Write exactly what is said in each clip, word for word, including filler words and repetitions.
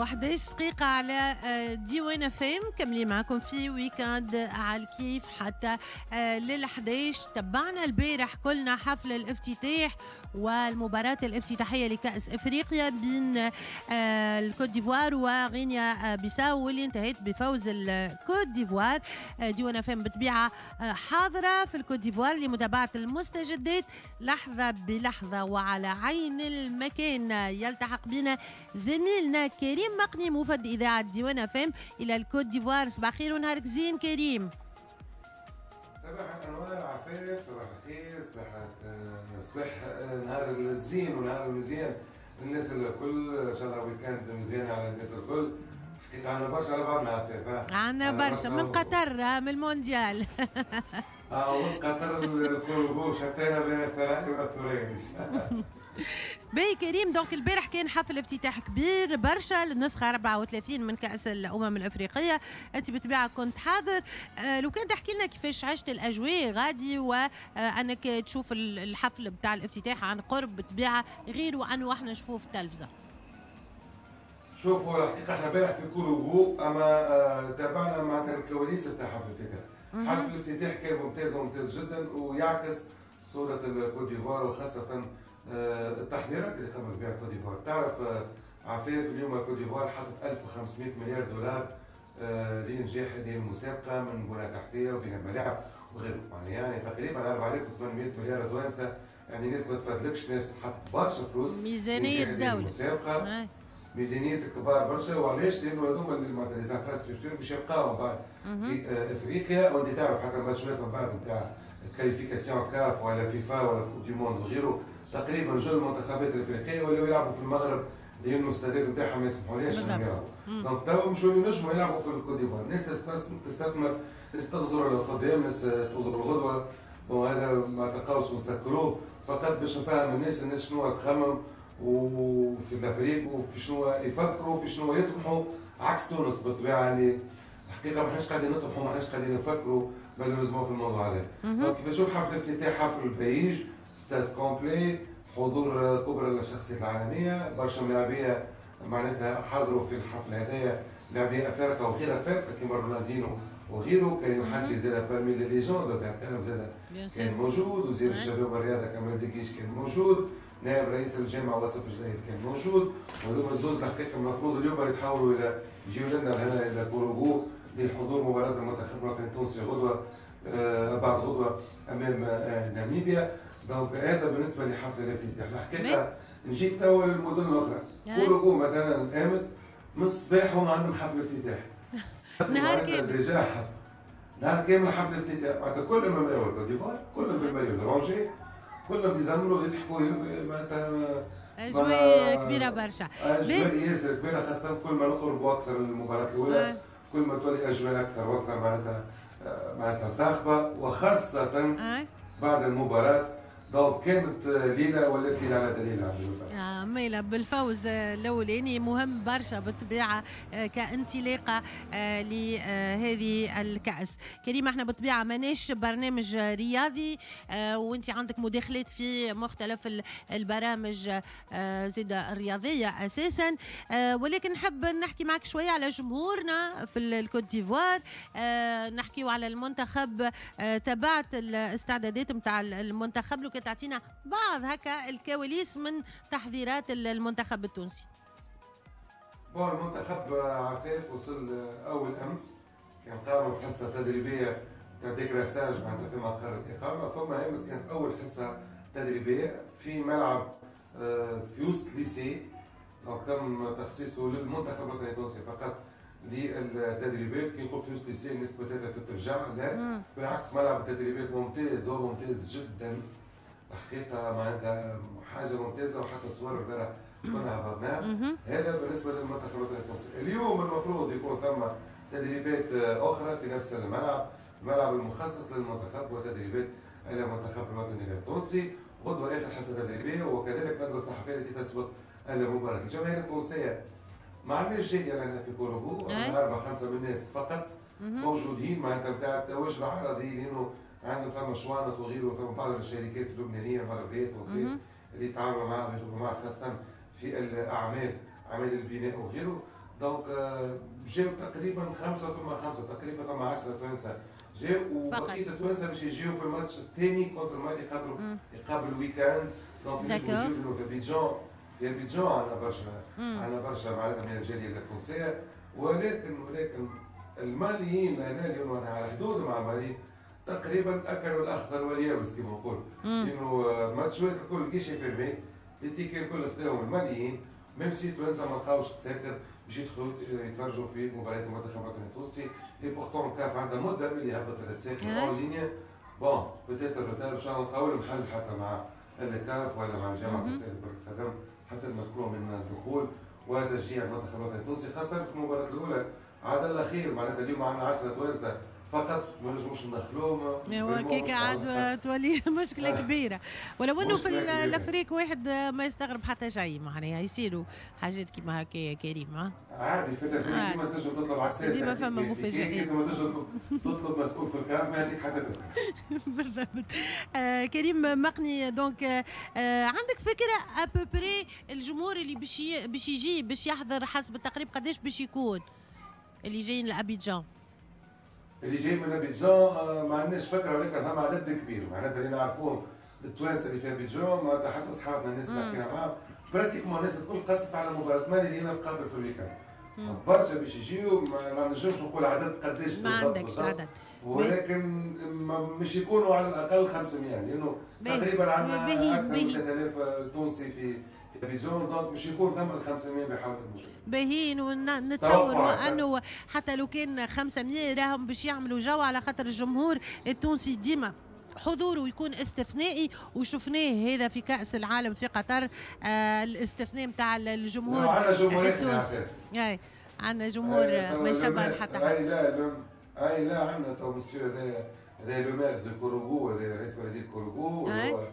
وحداش دقيقة على ديوان اف ام، كملي معكم في week-end على الكيف حتى لل حداش. تبعنا البارح كلنا حفل الافتتاح والمباراة الافتتاحية لكأس افريقيا بين الكوت ديفوار وغينيا بيساو، واللي انتهت بفوز الكوت ديفوار. ديوان اف ام بطبيعة حاضرة في الكوت ديفوار لمتابعة المستجدات لحظة بلحظة وعلى عين المكان. يلتحق بنا زميلنا كريم مقني، موفد إذاعة ديوان اف ام إلى الكوت ديفوار. صباح خير ونهارك زين كريم. صباح الانوار عفاف، صباح الخير، صباح صباح نهار الزين ونهار المزيان الناس الكل، ان شاء الله week-end مزيان على الناس الكل. حقيقة عندنا برشا على بعضنا عفاف. عندنا برشا من قطر، من المونديال. اه، من قطر الكورغو، شتانا بين الثريا والثريا. باهي كريم، donc البارح كان حفل افتتاح كبير برشا للنسخة أربعة وثلاثين من كأس الأمم الأفريقية. أنت بالطبيعة كنت حاضر، آه، لو كان تحكي لنا كيفاش عشت الأجواء غادي وأنك تشوف الحفل بتاع الافتتاح عن قرب، بالطبيعة غير وأنه احنا نشوفوه في التلفزة. شوفوا، الحقيقة احنا امبارح في كوروغو، أما آه، تابعنا معناتها الكواليس بتاع حفل الافتتاح. حفل الافتتاح كان ممتاز وممتاز جدا ويعكس صورة الكوت ديفوار وخاصة آه، التحضيرات اللي قامت بها كوت ديفوار. تعرف آه، عفاف، اليوم الكوت ديفوار حطت ألف وخمسمية مليار دولار آه، لإنجاح هذه المسابقة من بنى تحتية وبناء ملاعب وغيره، يعني يعني تقريبا أربعة آلاف وثمانمية مليار توانسة، يعني ناس ما تفدلكش، ناس حط برشا فلوس. ميزانية الدولة. المسابقة ميزانية كبار برشا. وعلاش؟ لأنه هذوما معناتها les infrastructures باش يبقاو بعد في افريقيا، وانت تعرف حتى الماتشات من بعد نتاع qualifications CAF ولا فيفا ولا coupe du monde وغيره، تقريبا جل المنتخبات الافريقية ولاو يلعبوا في المغرب لانه الاستادات نتاعهم ما يسمحوليش انهم يلعبوا. donc توا مشوا ينجموا يلعبوا في الكوت ديفوار. الناس تستثمر، ناس تغزر للقدام، ناس تغزر الغدوه. وهذا ما تلقاوش ونسكروه فقط باش نفهم الناس الناس شنو تخمم وفي l'Afrique وفي شنو يفكروا، في شنو يطمحوا، عكس تونس بالطبيعة اللي الحقيقة ما احناش قاعدين نطمحوا، ما احناش قاعدين نفكروا malheureusement في الموضوع هذا. donc كيف نشوف حفل الافتتاح، حفل بهيج، stade complet، حضور كبرى الشخصيات العالميه، برشا ملاعبيه معناتها حضروا في الحفل هذايا، لاعبين افارقه وغير افارقه كيما رونالدينو وغيره. كريم حقي زاد parmi les légendes تاع زاد كان موجود، وزير الشباب والرياضة كمال دقيش كان موجود، نائب رئيس الجامعة وصف جديد كان موجود. وهذوما الزوز الحقيقة المفروض اليوم يتحولوا الى يجيو لنا هنا الى كوروغو لحضور مباراة المنتخب الوطني التونسي غدوه، آه بعد غدوه امام آه ناميبيا. donc هذا بالنسبة لحفل الافتتاح. الحقيقة نجيك توا للمدن الاخرى، كوروغو مثلا امس من الصباح هم عندهم حفل افتتاح. نهار كامل. déjà نهار كامل حفل افتتاح، معناتها كلهم بالمريول كوت ديفوار، كلهم بالمريول orangé، كلهم يزمروا يضحكوا معناتها. اجواء كبيرة برشا. اجواء ياسر كبيره، خاصة كل ما نقربوا اكثر للمباراة الاولى كل ما تولي اجواء اكثر واكثر معناتها معناتها صاخبه، وخاصة بعد المباراه. donc كانت ليلة ولات ليلة على دليل. آه ميلا بالفوز الاولاني مهم برشا بالطبيعة آه، كانطلاقه آه، لهذه الكاس. كريم، احنا بالطبيعة ماناش برنامج رياضي، آه، وانت عندك مداخلات في مختلف البرامج زيد الرياضية اساسا، ولكن نحب نحكي معك شوية على جمهورنا في الكوت ديفوار، نحكيو على المنتخب. تابعت الاستعدادات نتاع المنتخب؟ لو تعطينا بعض هكا الكواليس من تحضيرات المنتخب التونسي. bon، المنتخب عفاف وصل اول امس، كان قاموا بحصة تدريبية تاع décrassage معناتها في مقر الاقامه، ثم امس كانت اول حصة تدريبية في ملعب آه، في وسط lycée، donc تم تخصيصه للمنتخب الوطني التونسي فقط للتدريبات. كي نقول في وسط lycée الناس peut-être تترجع، لا بالعكس، ملعب التدريبات ممتاز وممتاز جدا الحقيقه، معناتها حاجة ممتازه، وحتى الصور البارح كنا هبطناها. هذا بالنسبة للمنتخب الوطني التونسي. اليوم المفروض يكون ثم تدريبات اخرى في نفس الملعب، الملعب المخصص للمنتخب، وتدريبات المنتخب الوطني التونسي. غدوه اخر حصة تدريبية وكذلك ندوه الصحفية التي تسبق المباراه. الجماهير التونسية ما عندناش جالية لنا في كوروغو، اربعة خمسة من الناس فقط موجودين، معناتها نتاع التواجد العرضي، لانه عندهم ثم شوانط وغيره، ثم بعض الشركات اللبنانية المغربية التونسية اللي يتعاملوا معها ويخدموا معها، خاصة في الاعمال، اعمال البناء وغيره. donc جاو تقريبا خمسة ثم خمسة، تقريبا ثم عشرة توانسة جاو، وبقية التوانسة باش يجيو في الماتش الثاني contre مالي، خاطر يقابل week-end. donc يجيو في ابيجان، في ابيجان عندنا برشا عندنا برشا معناتها من الجالية التونسية. ولكن ولكن الماليين هنا اليوم على حدود مع مالي تقريبا اكلوا الاخضر واليابس كما نقول، لانه ماتشات الكل guichets fermés، les tickets الكل خذاهم الماليين، même si توانسة ما لقاوش تساكر باش يدخلوا يتفرجوا في مباريات المنتخب الوطني التونسي. et pourtant كاف عندها مده ملي هبطت التساكر en ligne. bon peut-être retard، ان شاء الله نلقاو لهم حل حتى مع الكاف ولا مع الجامعة التونسية لكرة القدم حتى نمكنوهم من الدخول وتشجيع المنتخب الوطني التونسي، خاصة في المباراة الاولى. عاد الاخير معناتها اليوم عندنا عشرة توانسة فقط ما نجموش ندخلوهم، هو كيك عاد تولي مشكلة كبيرة. ولو انه في l'Afrique واحد ما يستغرب حتى شيء، معناها يصيروا حاجات كيما هكا يا كريم. عادي في l'Afrique ديما تنجم تطلب عكسات، ديما فما مفاجآت، ديما تنجم تطلب مسؤول في الكاف ما يعطيك حتى تسكت. بالضبط. آه كريم مقني، donc آه عندك فكرة à peu près الجمهور اللي باش باش يجي باش يحضر حسب التقريب قداش باش يكون اللي جايين لابيجان؟ اللي جاي من ابيجان ما عندناش فكرة، ولكن فما عدد كبير معناتها اللي نعرفوهم التوانسة اللي في ابيجان، معناتها حتى اصحابنا الناس اللي حكينا معاهم pratiquement الناس الكل قصت على مباراة مالي اللي هي تقابل في ال week-end. برشا باش يجيو، ما نجمش نقول عدد قداش، ما عندكش عدد، ولكن مش يكونوا على الاقل خمسمية، لانه تقريبا عندنا اكثر من ثلاثة آلاف تونسي في ابيجان، donc مش يكون ثم خمسمية بحول المشكل. باهيين، ونتصور انه حتى لو كان خمسمية راهم باش يعملوا جو، على خاطر الجمهور التونسي ديما حضوره يكون استثنائي، وشفناه هذا في كأس العالم في قطر. آه الاستثناء نتاع الجمهور التونسي. اي عندنا جمهور ما يشبه حتى حد. اي لا اي لا عندنا تو مسيو هذا هذا le maire de Korhogo، هذا رئيس بلديه كوروغو، هو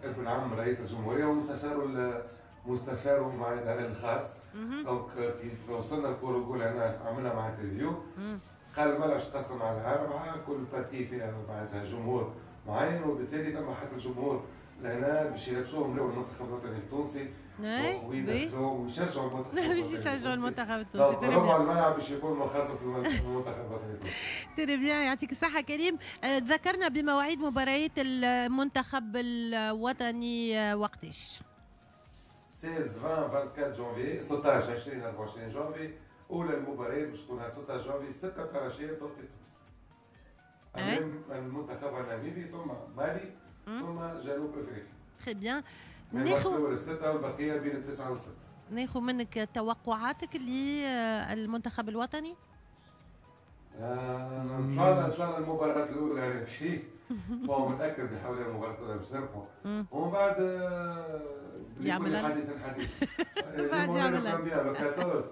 ابن عم رئيس الجمهورية ومستشاره مستشاره معناتها الخاص. donc كيف وصلنا لكوروغو لهنا عملنا مع interview، قال الملعب تقسم على اربعة، كل partie فيها معناتها جمهور معين، وبالتالي ثم حتى الجمهور لهنا باش يلبسوهم لون المنتخب الوطني التونسي ويدخلوهم ويشجعوا المنتخب باش يشجعوا المنتخب التونسي. ربع الملعب باش يكون مخصص للمنتخب الوطني التونسي. très bien، يعطيك الصحة كريم. ذكرنا بمواعيد مباريات المنتخب الوطني وقتاش؟ ستة عشر عشرين أربعة وعشرين جانفي، ستة عشر عشرين أربعة وعشرين جانفي اولى المباريات باش تكون ستة عشر جانفي ستة تاع العشية بتوقيت تونس. امام المنتخب الناميبي ثم مالي ثم جنوب افريقيا. très bien. ناخذ الستة والبقية بين التسعة والستة. ناخذ منك توقعاتك للمنتخب الوطني؟ آه ان شاء الله ان شاء الله المباراة الأولى ربحيه، هو متأكد بحول المباراة الأولى باش نربحوا، ومن بعد يعمل حديث الحديث. بعد يعمل أربعة عشر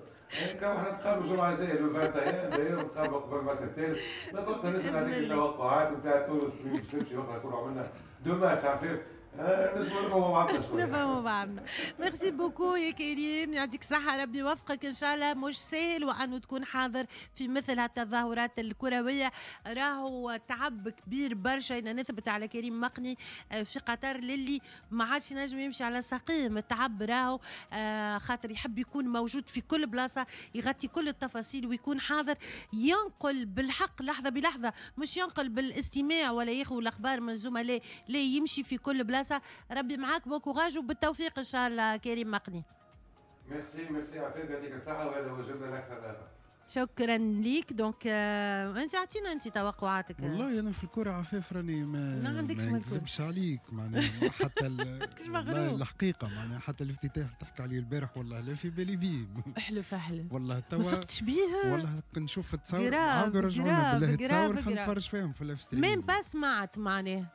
كما احنا نتقابلوا الجمعة الجاية le واحد وعشرين، داير نتقابلوا قبل الماتش الثالث، وقتها نجم نعطيك التوقعات نتاع تونس باش نمشي وقتها نكونوا عملنا deux matchs عفيف. نجموا نفهموا بعضنا شوية. نفهموا بعضنا. merci beaucoup يا كريم، يعطيك الصحة، ربي يوفقك إن شاء الله. مش سهل وأنه تكون حاضر في مثل هالتظاهرات الكروية، راهو تعب كبير برشا. أنا نثبت على كريم مقني في قطر للي ما عادش ينجم يمشي على ساقيه من التعب، راهو خاطر يحب يكون موجود في كل بلاصة، يغطي كل التفاصيل ويكون حاضر، ينقل بالحق لحظة بلحظة، مش ينقل بالاستماع ولا ياخذ الأخبار من الزملاء، لا يمشي في كل بلاصة. ربي معاك، bon courage وبالتوفيق ان شاء الله كريم مقني. merci merci عفاف، يعطيك الصحة، وهذا واجبنا الاكثر الاخر. شكرا ليك. donc آه، انت اعطينا انت توقعاتك. والله انا في الكره عفاف راني ما ما عندكش، ما نكذبش عليك معناها حتى الحقيقة معناها حتى الافتتاح تحكي عليه البارح والله لا في بالي بيه. احلف احلف. والله توا ما فقتش بيه. والله نشوف التصاور، عاودوا رجعونا بالله التصاور خلينا نتفرج فيهم في ال live stream. même pas سمعت معناها.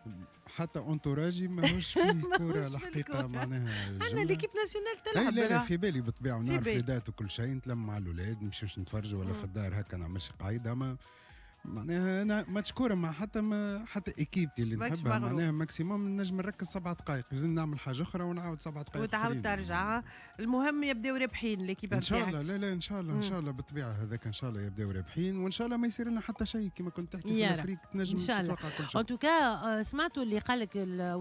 حتى entourage ي ماهوش فيه كورة الحقيقة معناها. عندنا l'équipe nationale تلعب. لا لا في بالي بالطبيعة ونعرف les dates وكل شيء، نتلم مع الاولاد نمشيوش نتفرجوا ولا في الدار هكا نعملش قايدة، اما معناها انا ماتش كورة مع حتى ما حتى équipe تي اللي نحبها معناها maximum نجم نركز سبع دقائق، لازم نعمل حاجة اخرى ونعاود سبع دقائق وتعاود ترجع. المهم يبداو رابحين l'équipe ان شاء الله. لا لا ان شاء الله ان شاء الله بالطبيعة هذاك ان شاء الله يبداو رابحين، وان شاء الله ما يصير لنا حتى شيء كما كنت تحكي في l'Afrique تنجم تتوقع كل شيء. en tout cas سمعتوا اللي قال لك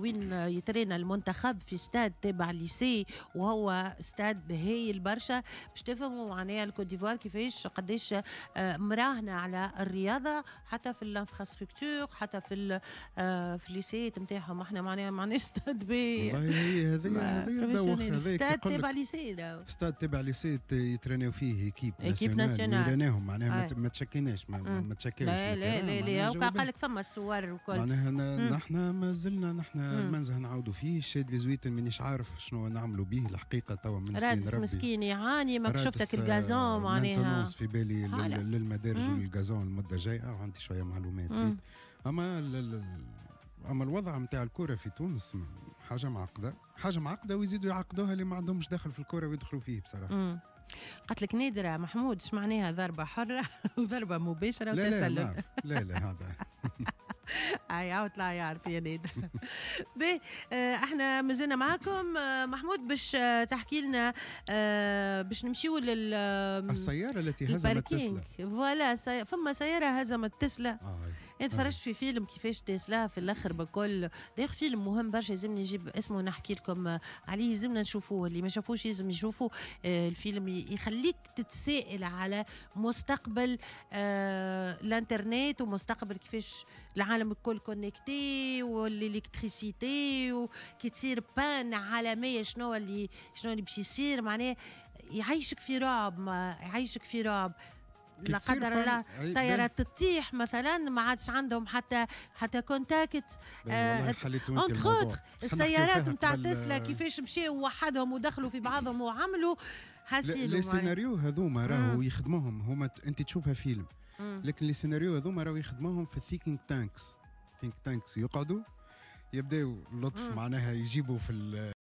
وين يترينا المنتخب في ستاد تابع lycée، وهو ستاد هايل برشا باش تفهموا معناها الكوت ديفوار كيفاش قداش مراهنه على الرياضة حتى في ال infrastructure حتى في في ال lycée نتاعهم. احنا معناها ما عندناش ستاد باهي. والله هي هذه هذه ستاد تابع lycée، ستاد تابع lycée يترينيو فيه équipe équipe nationale يريناهم معناها ما تشكيناش ما, ما تشكيوش. لا لا لا لا قال لك فما الصور وكل معناها نحن ما زلنا نحن المنزه نعاودوا فيه. الشاذلي زويتن مانيش عارف شنو نعملوا به الحقيقة توا من سنين ربي. مسكين يعاني ما شفتك ال gazon معناها في بالي للمدارج وال gazon المدة الجاية وعندي شوية معلومات. اما اما الوضع نتاع الكره في تونس حاجة معقدة، حاجة معقدة ويزيدوا يعقدوها اللي ما عندهمش دخل في الكره ويدخلوا فيه بصراحة. قالت لك نادرة محمود اش معناها ضربه حره وضربه مباشرة وتسلل؟ لا لا, لا, لا هذا اي عاود طلع يعرف يا نادر. باهي احنا مازلنا معاكم محمود باش تحكي لنا باش نمشيو لل السيارة التي هزمت تسلا. voilà فما سيارة هزمت تسلا. آه. انا تفرجت في فيلم كيفاش تسلا في الاخر بكل داير فيلم مهم برشا لازمني نجيب اسمه نحكي لكم عليه، لازمنا نشوفوه، اللي ما شافوش لازم يشوفوا الفيلم، يخليك تتساءل على مستقبل آه الانترنت ومستقبل كيفاش العالم الكل connecté وال électricité وكي تصير panne عالمية شنو اللي شنو اللي باش يصير. معناه يعيشك في رعب، ما يعيشك في رعب لا قدر الله طيارات تطيح مثلا ما عادش عندهم حتى حتى contact. entre autres السيارات نتاع تسلا كيفاش مشاو وحدهم ودخلوا في بعضهم وعملوا حاسيلو. les scénarios هذوما راهو يخدموهم هما، انت تشوفها فيلم لكن les scénarios هذوما راهو يخدموهم في thinking tanks. think tanks يقعدوا يبداو اللطف معناها يجيبوا في